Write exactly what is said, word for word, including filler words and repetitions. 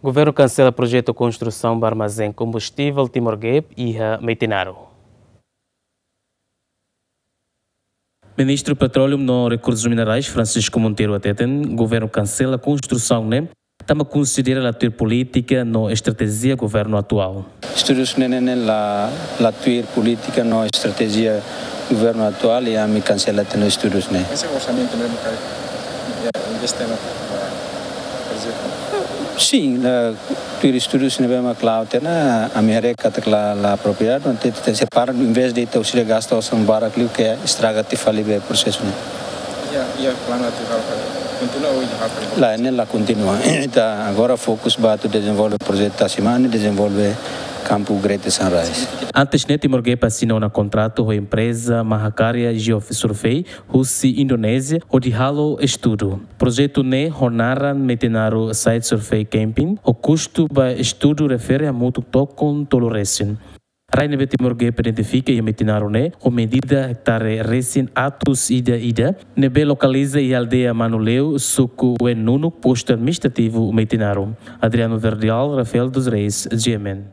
Governu kansela projetu konstrusaun ba armazén kombustivel Timor Gap iha Metinaro. Ministru Petróleu no Rekursus Minerais, Francisco Monteiro, hateten governu kansela konstrusaun ne'e tanba konsidera la tuir polítika no estratéjia governu atuál. Estudus ne'e ne'e la, la tuir polítika no estratéjia governu atuál, i ami kansela tiha ona estudus ne'e. Ese orsamentu ne'e buka, ya, investe na, na, por ezemplu? Sin, la tuir estudus ne'ebé mak la'o tiha ona, ami haree katak la, la apropriadu, entaun ita tenke separa, envezde ita husik gasta osan barak liu ke estraga tiha fali ba prosesu ne'e. Ya, ya, planu atu halo fali. Kontinua ou halo fali? La, ne'e la kontinua. Ita agora fokus ba atu dezenvolve projetu Tasimani, dezenvolve kampu Greater Sunrise. Antes ne'e Timor Gap asina ona kontratu ho empreza Mahakarya Geosurvey husi Indonézia hodi halo estudu. Projetu ne'e ho naran Metinaro Site Survey Campaign, ho kustu ba estudu refere hamutuk tokon tolu resin. Rai ne'ebé Timor Gap identifika iha Metinaro ne'e ho medida ektare resin atus ida ida, ne'ebé lokaliza iha aldeia Manuleu, suku Oe-Nunuk, postu administrativu Metinaro. Adriano Verdial, Rafael dos Reis, G M N.